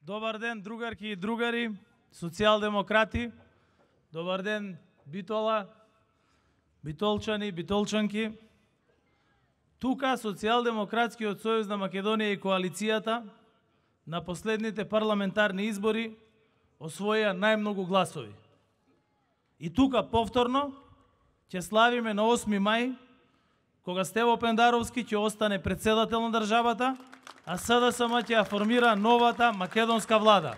Добар ден, другарки и другари, социјалдемократи. Добар ден, Битола, битолчани, битолчанки. Тука Социјалдемократскиот сојуз на Македонија и коалицијата на последните парламентарни избори освоија најмногу гласови. И тука повторно ќе славиме на 8 мај, кога Стево Пендаровски ќе остане председател на државата, а СДСМ ќе ја формира новата македонска влада.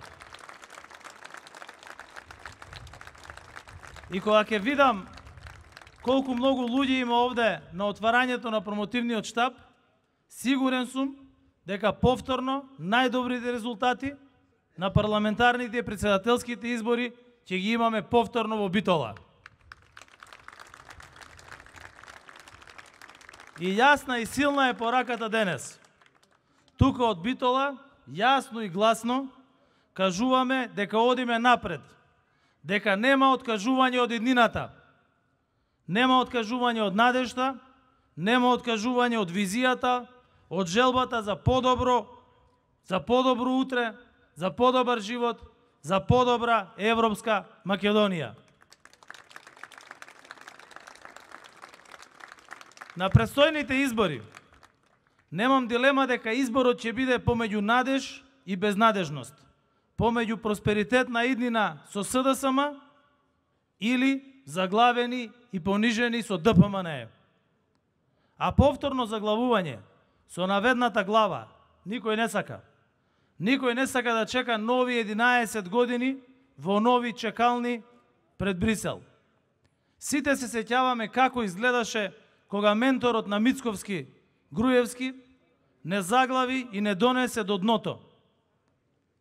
И кога ќе видам колку многу луѓе има овде на отварањето на промотивниот штаб, сигурен сум дека повторно најдобрите резултати на парламентарните и председателските избори ќе ги имаме повторно во Битола. И јасна и силна е пораката денес. Тука од Битола, јасно и гласно, кажуваме дека одиме напред, дека нема откажување од иднината, нема откажување од надежта, нема откажување од визијата, од желбата за подобро утре, за подобар живот, за подобра европска Македонија. На предстојните избори немам дилема дека изборот ќе биде помеѓу надеж и безнадежност, помеѓу просперитет на иднина со СДСМ или заглавени и понижени со ДПМН. А повторно заглавување со наведната глава никој не сака. Никој не сака да чека нови 11 години во нови чекални пред Брисел. Сите се сеќаваме како изгледаше кога менторот на Мицковски, Груевски, не заглави и не донесе до дното.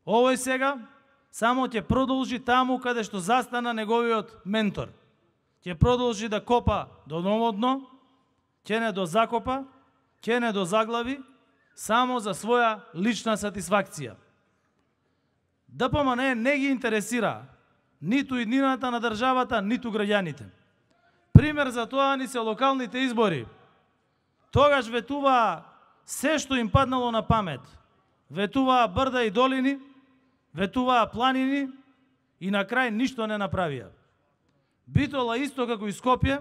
Овој сега само ќе продолжи таму каде што застана неговиот ментор. Ќе продолжи да копа до ново дно, ќе не дозакопа, ќе не дозаглави, само за своја лична сатисфакција. ДПМН не ги интересира ниту иднината на државата, ниту граѓаните. Пример за тоа ни се локалните избори. Тогаш ветуваа се што им паднало на памет. Ветуваа брда и долини, ветуваа планини и на крај ништо не направија. Битола исто како и Скопје,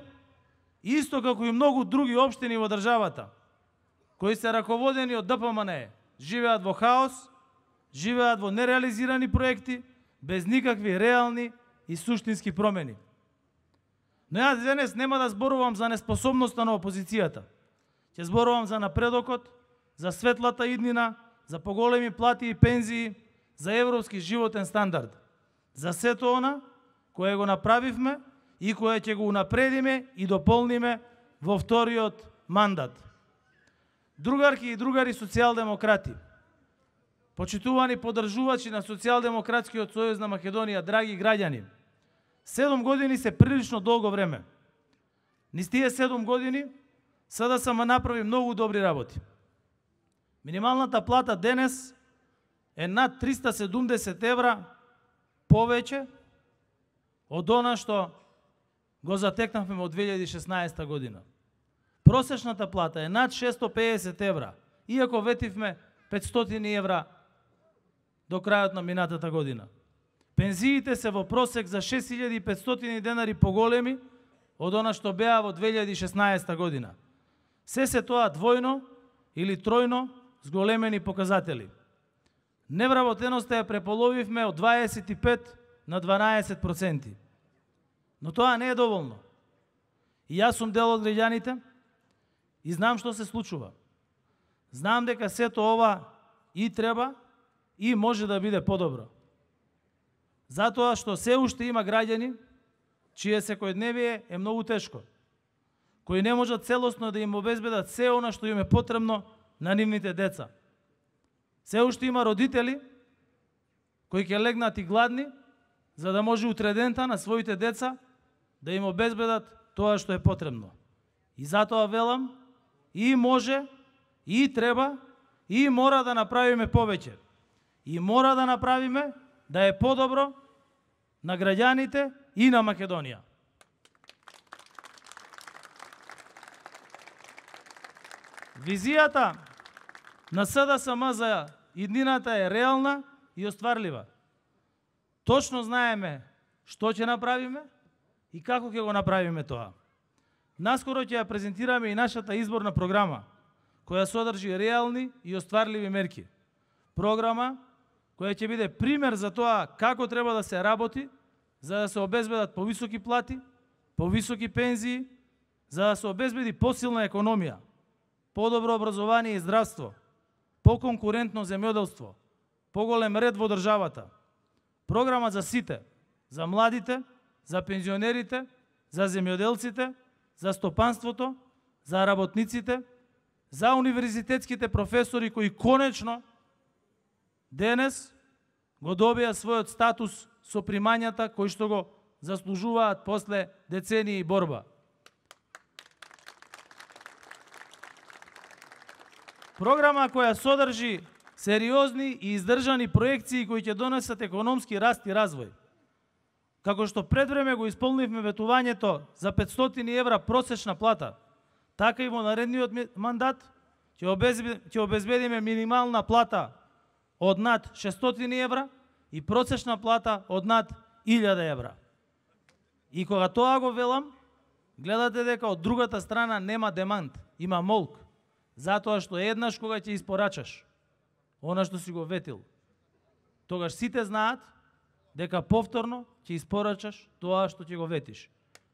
исто како и многу други општини во државата, кои се раководени од ДПМН, живеат во хаос, живеат во нереализирани проекти, без никакви реални и суштински промени. Но јас денес нема да зборувам за неспособноста на опозицијата. Ќе зборувам за напредокот, за светлата иднина, за поголеми плати и пензии, за европски животен стандард. За сето она кое го направивме и кое ќе го унапредиме и дополниме во вториот мандат. Другарки и другари социјалдемократи, почитувани поддржувачи на Социјалдемократскиот сојуз на Македонија, драги граѓани, 7 години се прилично долго време. Низ тие 7 години СДСМ направи многу добри работи. Минималната плата денес е над 370 евра повеќе од она што го затекнавме од 2016 година. Просечната плата е над 650 евра, иако ветивме 500 евра до крајот на минатата година. Пензиите се во просек за 6500 денари поголеми од она што беа во 2016 година. Се тоа двојно или тројно зголемени показатели. Невработеноста ја преполовивме од 25 на 12%. Но тоа не е доволно. И јас сум дел од граѓаните и знам што се случува. Знам дека сето ова и треба и може да биде подобро. Затоа што се уште има граѓани чие секојдневие е многу тешко, кои не можат целосно да им обезбедат се она што им е потребно на нивните деца. Се уште има родители кои ќе легнат и гладни, за да може утредента на своите деца да им обезбедат тоа што е потребно. И затоа велам, и може, и треба, и мора да направиме повеќе. И мора да направиме да е подобро на граѓаните и на Македонија. Визијата на СДСМ за иднината е реална и остварлива. Точно знаеме што ќе направиме и како ќе го направиме тоа. Наскоро ќе ја презентираме и нашата изборна програма, која содржи реални и остварливи мерки. Програма која ќе биде пример за тоа како треба да се работи, за да се обезбедат повисоки плати, повисоки пензии, за да се обезбеди посилна економија, подобро образование и здравство, поконкурентно земјоделство, поголем ред во државата. Програма за сите, за младите, за пензионерите, за земјоделците, за стопанството, за работниците, за универзитетските професори кои конечно денес го добија својот статус со примањата кои што го заслужуваат после децении борба. Програма која содржи сериозни и издржани проекции кои ќе донесат економски раст и развој. Како што пред време го исполнивме ветувањето за 500 евра просечна плата, така и во наредниот мандат ќе обезбедиме минимална плата од над 600 евра и просечна плата од над 1000 евра. И кога тоа го велам, гледате дека од другата страна нема демант, има молк, затоа што еднаш кога ќе испорачаш она што си го ветил, тогаш сите знаат дека повторно ќе испорачаш тоа што ќе го ветиш.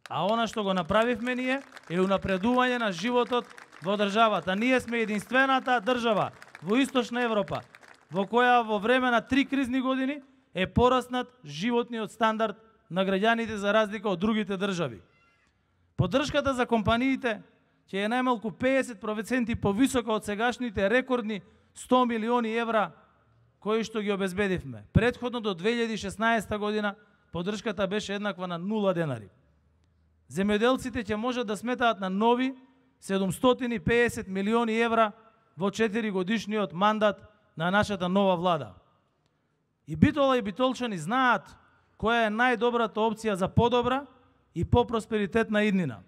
А она што го направивме ние е унапредување на животот во државата. Ние сме единствената држава во Источна Европа во која во време на 3 кризни години е пораснат животниот стандард на граѓаните за разлика од другите држави. Поддршката за компаниите ќе е најмалку 50% повисока од сегашните рекордни 100 милиони евра кои што ги обезбедивме. Претходно до 2016 година поддршката беше еднаква на 0 денари. Земјоделците ќе можат да сметаат на нови 750 милиони евра во 4 годишниот мандат на нашата нова влада. И Битола и битолчани знаат која е најдобрата опција за подобра и попросперитетна иднина.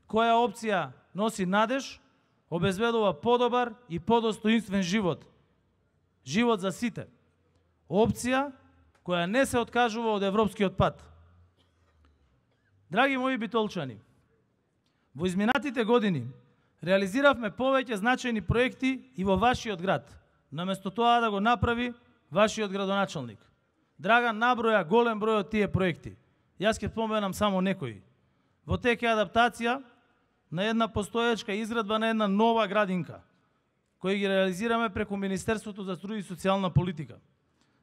Која опција носи надеж, обезбедува подобар и подостоинствен живот. Живот за сите. Опција која не се откажува од европскиот пат. Драги мои битолчани, во изминатите години реализиравме повеќе значајни проекти и во вашиот град, наместо тоа да го направи вашиот градоначалник. Драган наброја голем број од тие проекти. Јас ќе споменам само некои. Во тек е адаптација на една постоечка изградба на една нова градинка, кои ги реализираме преку Министерството за труд и социјална политика.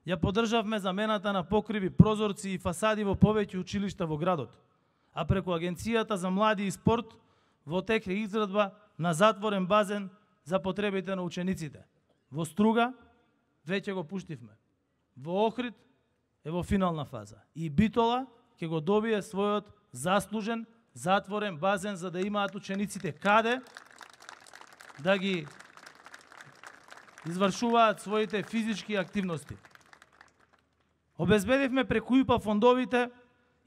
Ја поддржавме замената на покриви, прозорци и фасади во повеќе училишта во градот, а преку Агенцијата за млади и спорт во тек е изградба на затворен базен за потребите на учениците. Во Струга веќе го пуштивме. Во Охрид е во финална фаза. И Битола ќе го добие својот заслужен затворен базен за да имаат учениците каде да ги извршуваат своите физички активности. Обезбедивме преку ИПА фондовите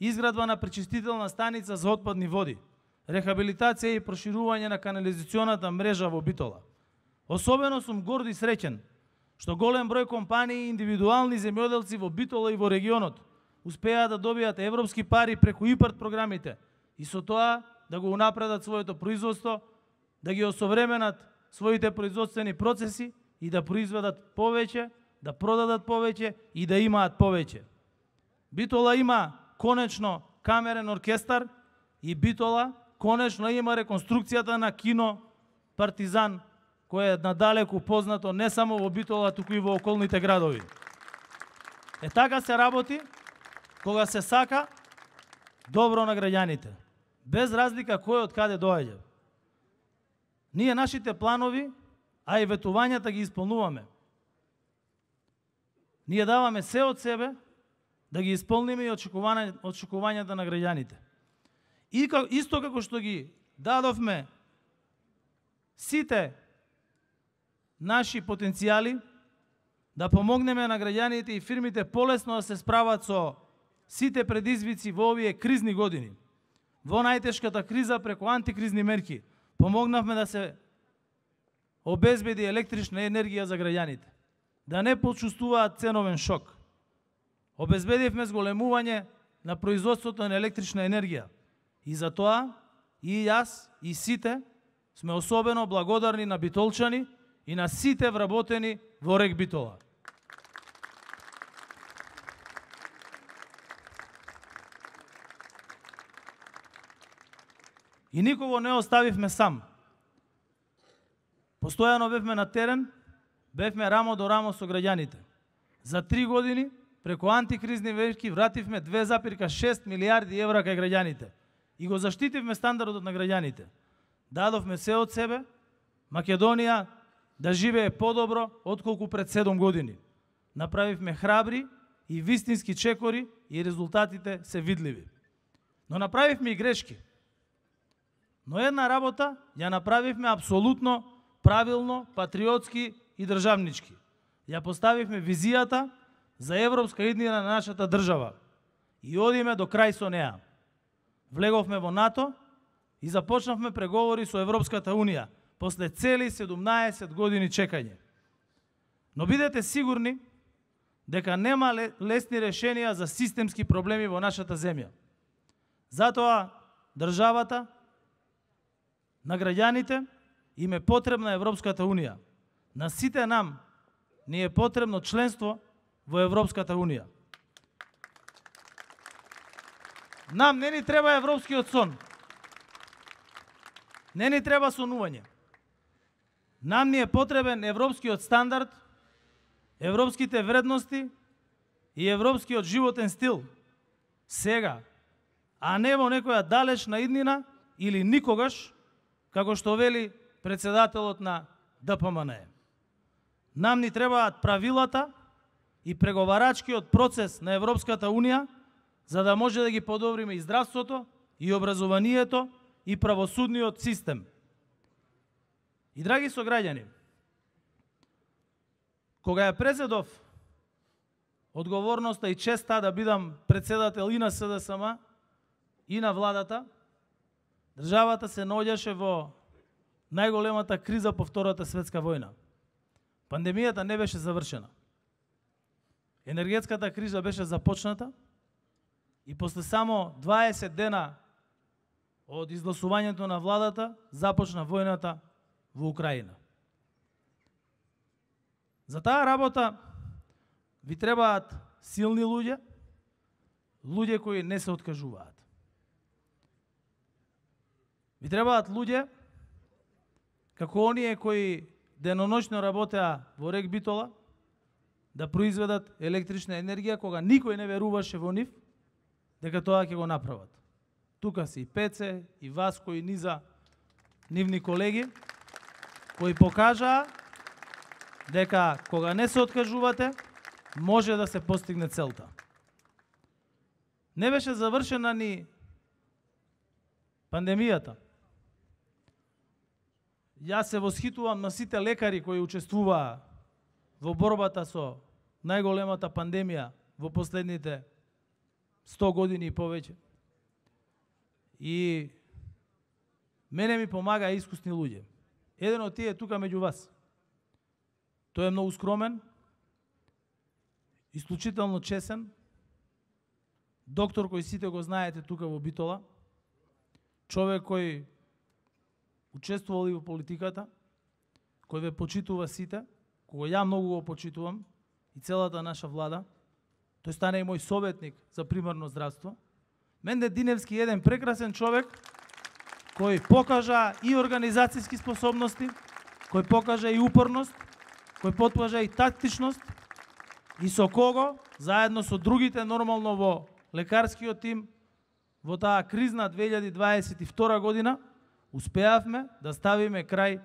изградба на пречистителна станица за отпадни води, рехабилитација и проширување на канализационата мрежа во Битола. Особено сум горд и среќен што голем број компании и индивидуални земјоделци во Битола и во регионот успеа да добијат европски пари преку ИПАРД програмите и со тоа да го унапредат своето производство, да ги осовременат своите производствени процеси и да произведат повеќе, да продадат повеќе и да имаат повеќе. Битола има конечно камерен оркестар и Битола конечно има реконструкцијата на кино Партизан, кое е надалеку познато не само во Битола, туку и во околните градови. Е така се работи кога се сака добро на граѓаните, без разлика кој од каде доаѓа. Ние нашите планови, а и ветувањата ги исполнуваме. Ние даваме се од себе да ги исполниме и очекувањата на граѓаните. И исто како што ги дадовме сите наши потенцијали да помогнеме на граѓаните и фирмите полесно да се справат со сите предизвици во овие кризни години. Во најтешката криза преку антикризни мерки помогнавме да се обезбеди електрична енергија за граѓаните. да не почувствуваат ценовен шок. Обезбедивме зголемување на производството на електрична енергија. И за тоа и јас, и сите сме особено благодарни на битолчани и на сите вработени во РЕК Битола. И никого не оставивме сам. Постојано бевме на терен, бевме рамо до рамо со граѓаните. За 3 години, преку антикризни мерки, вративме 2,6 милиарди евра кај граѓаните. И го заштитивме стандардот на граѓаните. Дадовме се од себе, Македонија да живее подобро отколку пред 7 години. Направивме храбри и вистински чекори и резултатите се видливи. Но направивме и грешки. Но една работа ја направивме апсолутно правилно, патриотски и државнички. Ја поставивме визијата за европска иднина на нашата држава и одиме до крај со неа. Влеговме во НАТО и започнавме преговори со Европската Унија после цели 17 години чекање. Но бидете сигурни дека нема лесни решенија за системски проблеми во нашата земја. Затоа државата на граѓаните им е потребна Европската Унија. На сите нам ни е потребно членство во Европската Унија. Нам не ни треба европскиот сон. Не ни треба сонување. Нам ни е потребен европскиот стандард, европските вредности и европскиот животен стил. Сега, а не во некоја далечна иднина или никогаш, како што вели председателот на ДПМН. Нам ни требаат правилата и преговарачкиот процес на Европската Унија, за да може да ги подобриме и здравството, и образованието, и правосудниот систем. И драги сограѓани, кога ја презедов одговорноста и честа да бидам председател и на СДСМ, и на владата, државата се наоѓаше во најголемата криза по Втората светска војна. Пандемијата не беше завршена. Енергетската криза беше започната и после само 20 дена од изгласувањето на владата започна војната во Украина. За таа работа ви требаат силни луѓе, луѓе кои не се откажуваат. Ви требаат луѓе како оние кои деноношно работеа во РЕК Битола да произведат електрична енергија кога никој не веруваше во нив дека тоа ќе го направат. Тука се и Пеце, и Васко, и низа нивни колеги кои покажаа дека кога не се откажувате може да се постигне целта. Не беше завршена ни пандемијата. Јас се восхитувам на сите лекари кои учествуваа во борбата со најголемата пандемија во последните 100 години и повеќе. И мене ми помага искусни луѓе. Еден од тие е тука меѓу вас. Тој е многу скромен, исклучително чесен, доктор кој сите го знаете тука во Битола, човек кој учествувал и во политиката, кој ве почитува сите, кога ја многу го почитувам и целата наша влада. Тој стане и мој советник за примарно здравство. Менде Диневски е еден прекрасен човек кој покажа и организацијски способности, кој покажа и упорност, кој покажа и тактичност и со кого, заедно со другите нормално во лекарскиот тим, во таа кризна 2022 година, успеавме да ставиме крај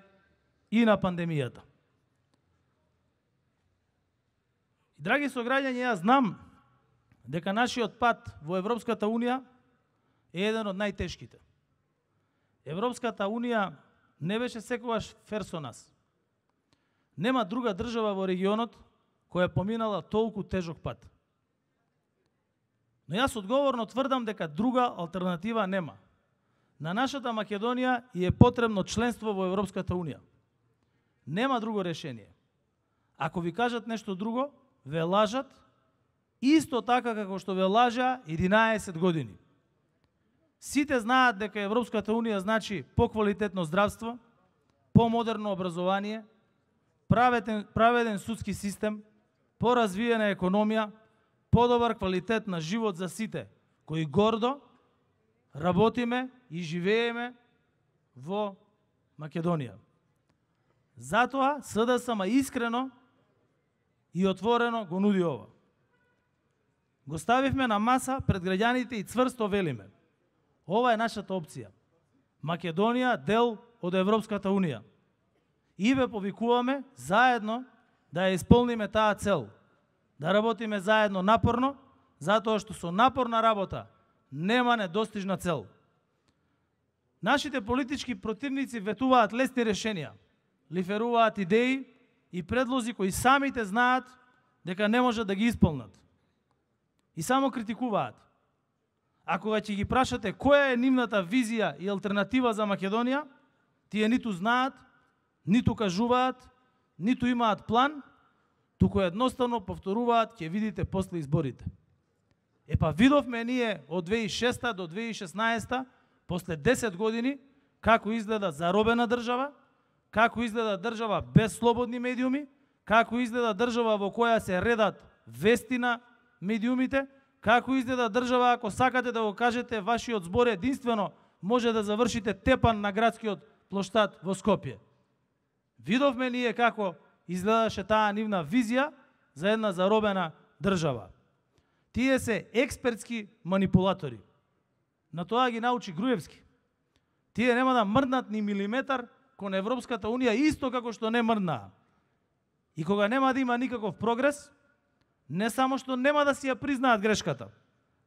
и на пандемијата. И, драги сограѓани, јас знам дека нашиот пат во Европската Унија е еден од најтешките. Европската Унија не беше секогаш фер со нас. Нема друга држава во регионот која поминала толку тежок пат. Но јас одговорно тврдам дека друга алтернатива нема. На нашата Македонија е потребно членство во Европската Унија. Нема друго решение. Ако ви кажат нешто друго, ве лажат, исто така како што ве лажа 11 години. Сите знаат дека Европската Унија значи поквалитетно здравство, помодерно образование, праведен судски систем, поразвиена економија, подобар квалитет на живот за сите, кои гордо работиме и живееме во Македонија. Затоа СДСМ искрено и отворено го нуди ова. Го ставивме на маса пред граѓаните и цврсто велиме: ова е нашата опција. Македонија дел од Европската Унија. И ве повикуваме заедно да ја исполниме таа цел, да работиме заедно напорно, затоа што со напорна работа нема недостижна цел. Нашите политички противници ветуваат лесни решенија, лиферуваат идеи и предлози кои самите знаат дека не можат да ги исполнат. И само критикуваат. А кога ќе ги прашате која е нивната визија и алтернатива за Македонија, тие ниту знаат, ниту кажуваат, ниту имаат план, туку едноставно повторуваат: ќе видите после изборите. Епа видовме ние од 2006 до 2016, после 10 години, како изгледа заробена држава, како изгледа држава без слободни медиуми, како изгледа држава во која се редат вести на медиумите, како изгледа држава, ако сакате да го кажете вашиот збор единствено може да завршите тепан на градскиот плоштад во Скопје. Видовме ние како изгледаше таа нивна визија за една заробена држава. Тие се експертски манипулатори. На тоа ги научи Груевски. Тие нема да мрднат ни милиметар кон Европската Унија, исто како што не мрднаа. И кога нема да има никаков прогрес, не само што нема да си ја признаат грешката,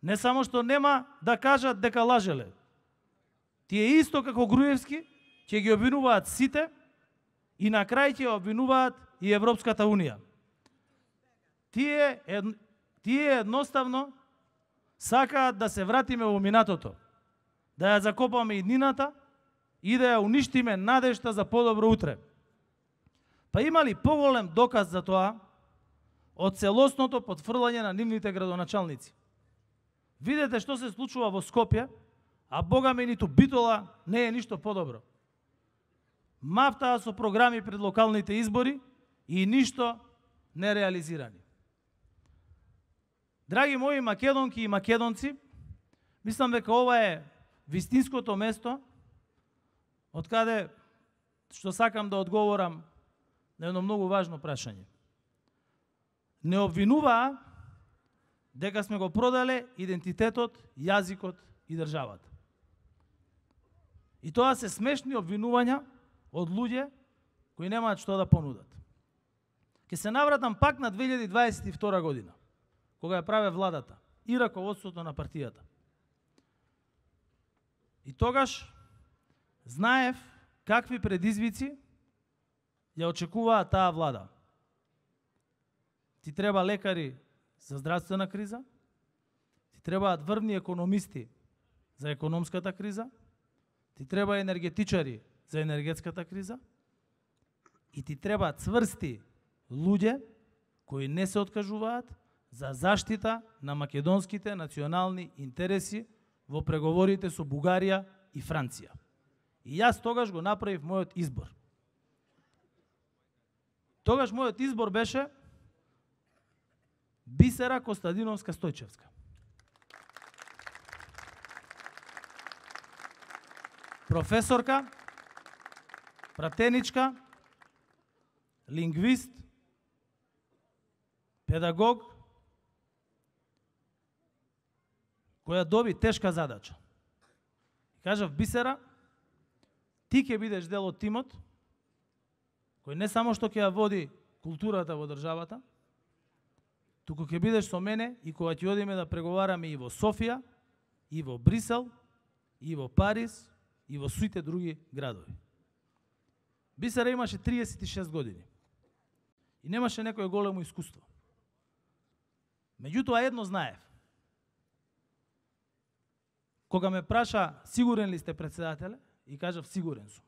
не само што нема да кажат дека лажеле, тие исто како Груевски ќе ги обвинуваат сите и на крај ќе обвинуваат и Европската Унија. Тие едноставно сакаат да се вратиме во минатото, да ја закопаме иднината и да ја уништиме надежта за подобро утре. Па има ли поголем доказ за тоа од целосното потфрлање на нивните градоначалници? Видете што се случува во Скопје, а бога ми ниту Битола не е ништо подобро. Мафтаа со програми пред локалните избори и ништо не реализирани. Драги мои македонки и македонци, мислам дека ова е вистинското место од каде што сакам да одговорам на едно многу важно прашање. Не обвинуваа дека сме го продале идентитетот, јазикот и државата. И тоа се смешни обвинувања од луѓе кои немаат што да понудат. Ке се навратам пак на 2022 година, кога ја праве владата и раководството на партијата. И тогаш знаев какви предизвици ја очекуваат таа влада. Ти треба лекари за здравствена криза, ти требаат врвни економисти за економската криза, ти треба енергетичари за енергетската криза и ти треба цврсти луѓе кои не се откажуваат за заштита на македонските национални интереси во преговорите со Бугарија и Франција. И јас тогаш го направив мојот избор. Тогаш мојот избор беше Бисера Костадиновска Стојчевска. Професорка, пратеничка, лингвист, педагог, која доби тешка задача. Кажав: Бисера, ти ќе бидеш дел од тимот кој не само што ќе ја води културата во државата, туку ќе бидеш со мене и кога ќе одиме да преговараме и во Софија, и во Брисел, и во Париз, и во сите други градови. Бисера имаше 36 години и немаше некое големо искуство. Меѓутоа едно знаев. Кога ме праша сигурен ли сте председателе, и кажав сигурен сум.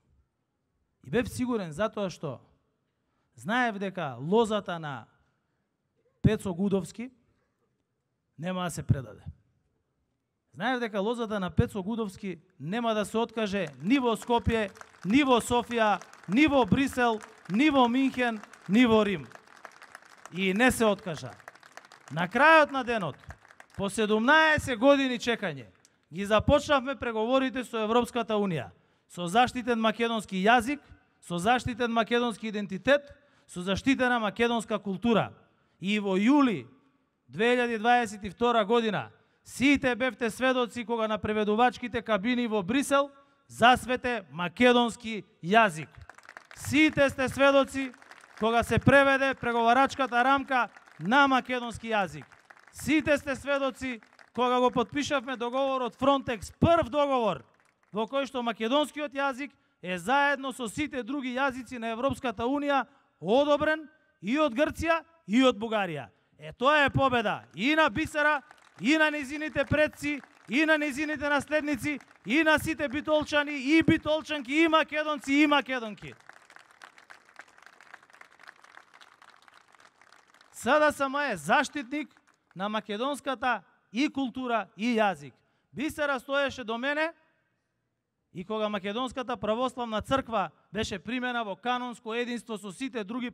И бев сигурен затоа што знаев дека лозата на Пецо Гудовски нема да се предаде. Знаев дека лозата на Пецо Гудовски нема да се откаже ни во Скопје, ни во Софија, ни во Брисел, ни во Минхен, ни во Рим. И не се откажа. На крајот на денот, по 17 години чекање, ги започнавме преговорите со Европската Унија, со заштитен македонски јазик, со заштитен македонски идентитет, со заштитена македонска култура. И во јули 2022 година сите бевте сведоци кога на преведувачките кабини во Брисел засвете македонски јазик. Сите сте сведоци кога се преведе преговарачката рамка на македонски јазик. Сите сте сведоци кога го потпишавме договорот Фронтекс, прв договор во кој што македонскиот јазик е заедно со сите други јазици на Европската Унија одобрен и од Грција и од Бугарија. Тоа е победа и на Бисера, и на незините предци, и на незините наследници, и на сите битолчани, и битолчанки, и македонци, и македонки. СДСМ е заштитник на македонската и култура и јазик. Бисера стоеше до мене и кога Македонската православна црква беше примена во канонско единство со сите други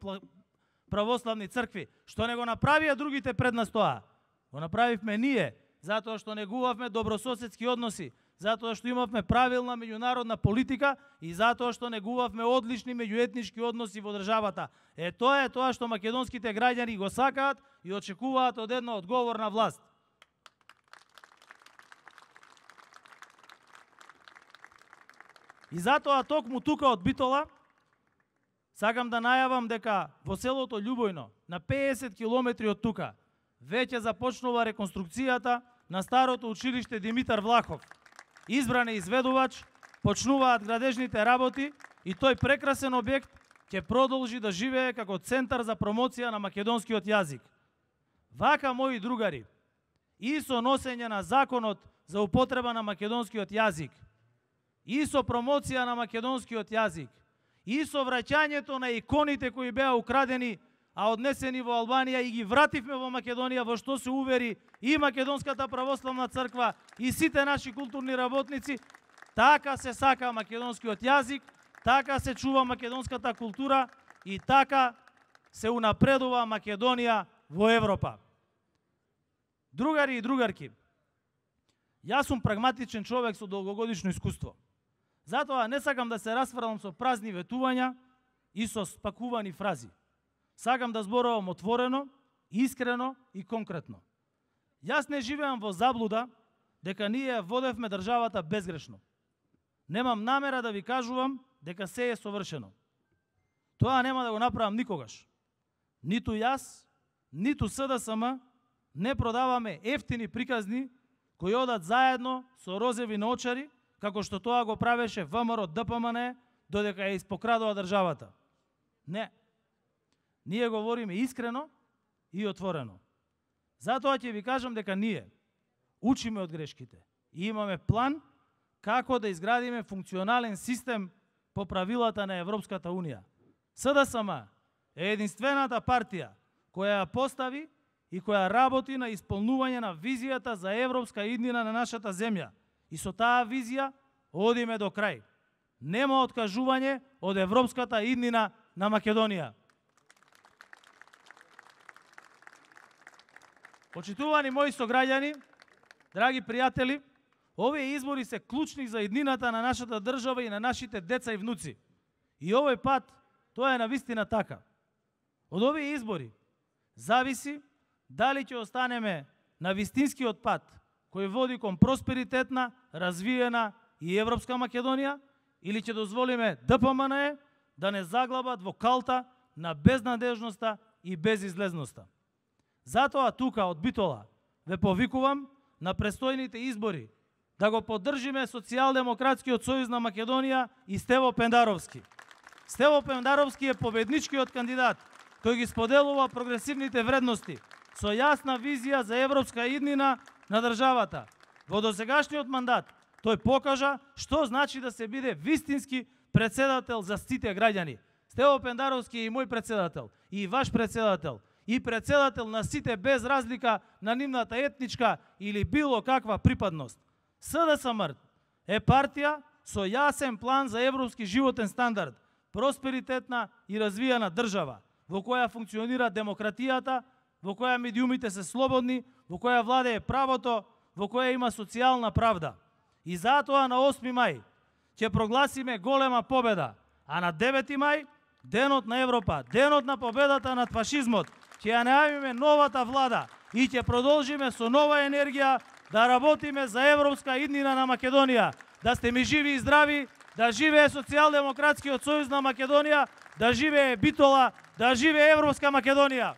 православни цркви, што не го направија другите пред нас тоа? Го направивме ние, затоа што негувавме добрососедски односи, затоа што имавме правилна меѓународна политика и затоа што негувавме одлични меѓуетнички односи во државата. Тоа е тоа што македонските граѓани го сакаат и очекуваат од една одговорна власт. И затоа токму тука од Битола сакам да најавам дека во селото Љубојно, на 50 километри од тука, веќе започнува реконструкцијата на старото училиште Димитар Влахов. Избран е изведувач, почнуваат градежните работи и тој прекрасен објект ќе продолжи да живее како центар за промоција на македонскиот јазик. Вака, мои другари, и со носење на законот за употреба на македонскиот јазик, и со промоција на македонскиот јазик, и со враќањето на иконите кои беа украдени, а однесени во Албанија и ги вративме во Македонија, во што се увери и Македонската православна црква и сите наши културни работници, така се сака македонскиот јазик, така се чува македонската култура и така се унапредува Македонија во Европа. Другари и другарки, јас сум прагматичен човек со долгогодишно искуство. Затоа не сакам да се расфрлам со празни ветувања и со спакувани фрази. Сакам да зборувам отворено, искрено и конкретно. Јас не живеам во заблуда дека ние водевме државата безгрешно. Немам намера да ви кажувам дека се е совршено. Тоа нема да го направам никогаш. Ниту јас, ниту СДСМ не продаваме ефтини приказни кои одат заедно со розеви наочари, како што тоа го правеше ВМРО ДПМН додека ја испокрадува државата. Не. Ние говориме искрено и отворено. Затоа ќе ви кажам дека ние учиме од грешките и имаме план како да изградиме функционален систем по правилата на Европската Унија. СДСМ е единствената партија која ја постави и која работи на исполнување на визијата за европска иднина на нашата земја. И со таа визија одиме до крај. Нема откажување од европската иднина на Македонија. Почитувани мои сограѓани, драги пријатели, овие избори се клучни за иднината на нашата држава и на нашите деца и внуци. И овој пат тоа е навистина така. Од овие избори зависи дали ќе останеме на вистинскиот пат кој води кон просперитетна, развиена и европска Македонија, или ќе дозволиме ДПМН да не заглабат во калта на безнадежноста и безизлезноста. Затоа тука од Битола ве повикувам на престојните избори да го поддржиме Социјалдемократскиот сојуз на Македонија и Стево Пендаровски. Стево Пендаровски е победничкиот кандидат кој ги споделува прогресивните вредности со јасна визија за европска иднина на државата. Во досегашниот мандат тој покажа што значи да се биде вистински претседател за сите граѓани. Стево Пендаровски е и мој председател, и ваш председател, и председател на сите без разлика на нивната етничка или било каква припадност. СДСМ е партија со јасен план за европски животен стандард, просперитетна и развиена држава, во која функционира демократијата, во која медиумите се слободни, во која владее правото, во која има социјална правда. И затоа на 8 мај ќе прогласиме голема победа, а на 9 мај, денот на Европа, денот на победата над фашизмот, ќе ја најавиме новата влада и ќе продолжиме со нова енергија да работиме за европска иднина на Македонија. Да сте ми живи и здрави, да живее Социјалдемократскиот сојуз на Македонија, да живее Битола, да живее Европска Македонија.